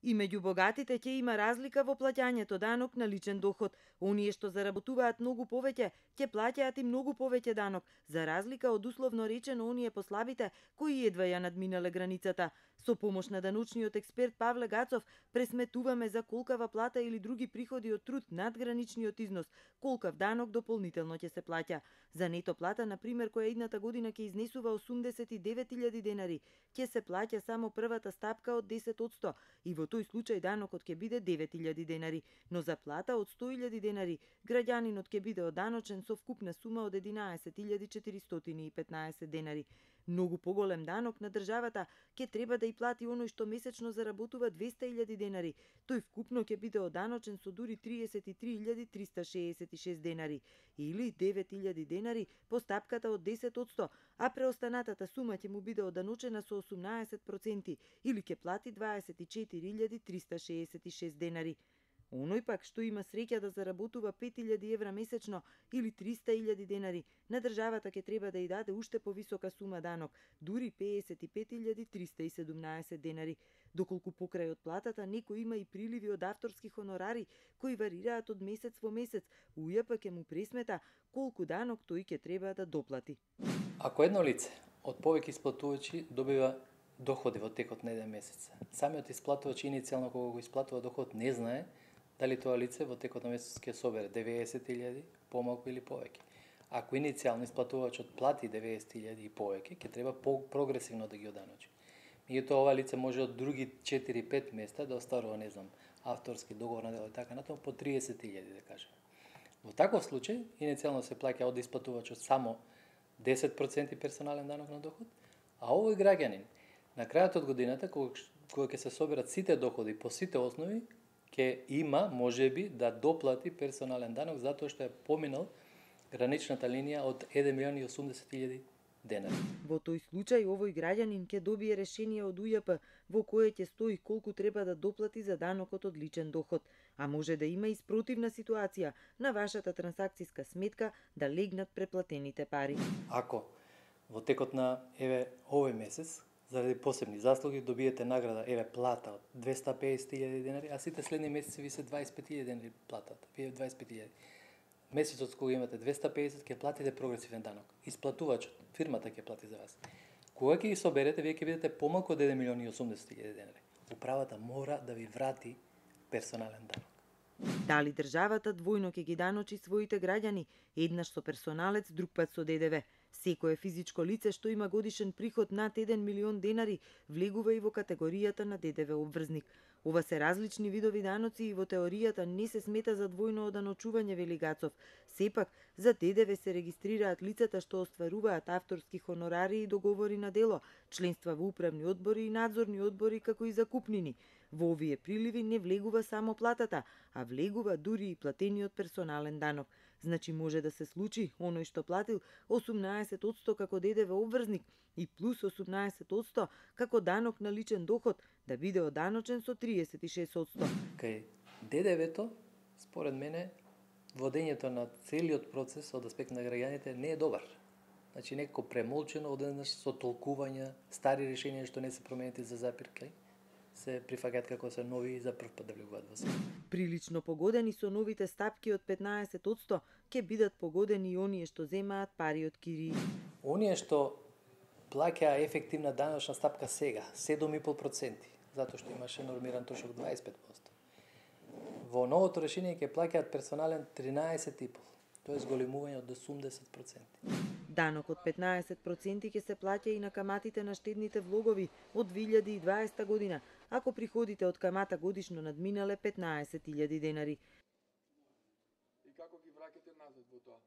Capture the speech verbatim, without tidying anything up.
И меѓу богатите ќе има разлика во плаќањето данок на личен доход. Оние што заработуваат многу повеќе, ќе плаќаат и многу повеќе данок, за разлика од условно речено оние послабите кои едва ја надминале границата. Со помош на даночниот експерт Павле Гацов пресметуваме за колкава плата или други приходи од труд над граничниот износ, колкав данок дополнително ќе се плаќа. За нето плата, на пример, која идната година ќе изнесува осумдесет и девет илјади денари, ќе се плаќа само првата стапка од десет одсто и во тој случај данокот ќе биде девет илјади денари, но за плата од сто илјади денари граѓанинот ќе биде оданочен со вкупна сума од единаесет илјади четиристотини и петнаесет денари. Многу поголем данок на државата ќе треба да и плати оној што месечно заработува двесте илјади денари. Тој вкупно ќе биде оданочен со дури триесет и три илјади триста шеесет и шест денари или девет илјади денари по стапката од десет одсто, а преостанатата сума ќе му биде оданочена со осумнаесет проценти или ќе плати дваесет и четири илјади триста шеесет и шест денари. Оној пак што има среќа да заработува пет илјади евра месечно или триста илјади денари, на државата ќе треба да ја даде уште повисока сума данок, дури педесет и пет илјади триста и седумнаесет денари, доколку покрај од платата некој има и приливи од авторски хонорари кои варираат од месец во месец, УЈП ќе му пресмета колку данок тој ќе треба да доплати. Ако едно лице од повеќе исплатувачи добива доходи во текот на еден месец, самиот исплатувач иницијално кога го исплатува доход не знае дали тоа лице во текот на месец ќе собере деветдесет илјади, помалку или повеќе. Ако иницијално исплатувачот плати деветдесет илјади и повеќе, ќе треба прогресивно да ги оданочи. Меѓутоа ова лице може од други четири-пет места да остварува, не знам, авторски договор на дело и така натаму по триесет илјади, да кажем. Во таков случај иницијално се плаќа од исплатувачот само десет проценти персонален данок на доход, а овој граѓанин на крајот од годината, кога, кога ќе се соберат сите доходи по сите основи, ќе има, можеби, да доплати персонален данок затоа што е поминал граничната линија од еден милион и осумдесет илјади денари. Во тој случај овој граѓанин ќе добие решение од УЈП во кое ќе стои колку треба да доплати за данокот од личен доход, а може да има и спротивна ситуација на вашата трансакцијска сметка да легнат преплатените пари. Ако во текот на еве овој месец заради посебни заслуги добиете награда, еве плата од двесте и педесет илјади денари, а сите следни месеци ви се дваесет и пет илјади денари платата. Вие дваесет и пет илјади. Месецот кога имате двесте и педесет ќе платите прогресивен данок. Исплатувачот, фирмата ќе плати за вас. Кога ќе ги соберете, вие ќе видите помалку од еден милион и осумдесет илјади денари. Управата мора да ви врати персонален данок. Дали државата двојно ќе ги даночи своите граѓани, еднаш со персоналец, друг пат со ДДВ? Секое физичко лице што има годишен приход над еден милион денари влегува и во категоријата на ДДВ обврзник. Ова се различни видови даноци и во теоријата не се смета за двојно оданочување, вели Гацов. Сепак, за ДДВ се регистрираат лицата што остваруваат авторски хонорари и договори на дело, членства во управни одбори и надзорни одбори, како и закупнини. Во овие приливи не влегува само платата, а влегува дури и платениот персонален данок. Значи може да се случи оној што платил осумнаесет одсто како ДДВ обврзник и плюс осумнаесет одсто како данок на личен доход да биде оданочен со триесет и шест одсто. Кај ДДВ-то, според мене, водењето на целиот процес од аспект на граѓаните не е добар. Значи некако премолчено, одеднаш со толкувања, стари решенија што не се променети за запирка, се прифаќаат како се нови и за прв пат да влегуваат во себе. Прилично погодени со новите стапки од петнаесет одсто ќе бидат погодени и оние што земаат пари од кирии. Оние што плаќаа ефективна даночна стапка сега, седум и пол проценти, затоа што имаше нормиран трошок дваесет и пет одсто. Во новото решение ќе плаќаат персонален тринаесет и пол, тоа е зголемување од осумдесет проценти. Данок од петнаесет проценти ќе се плаќа и на каматите на штедните влогови од две илјади и дваесета година, ако приходите од камата годишно надминале петнаесет илјади денари. И како ги враќате назад во тоа?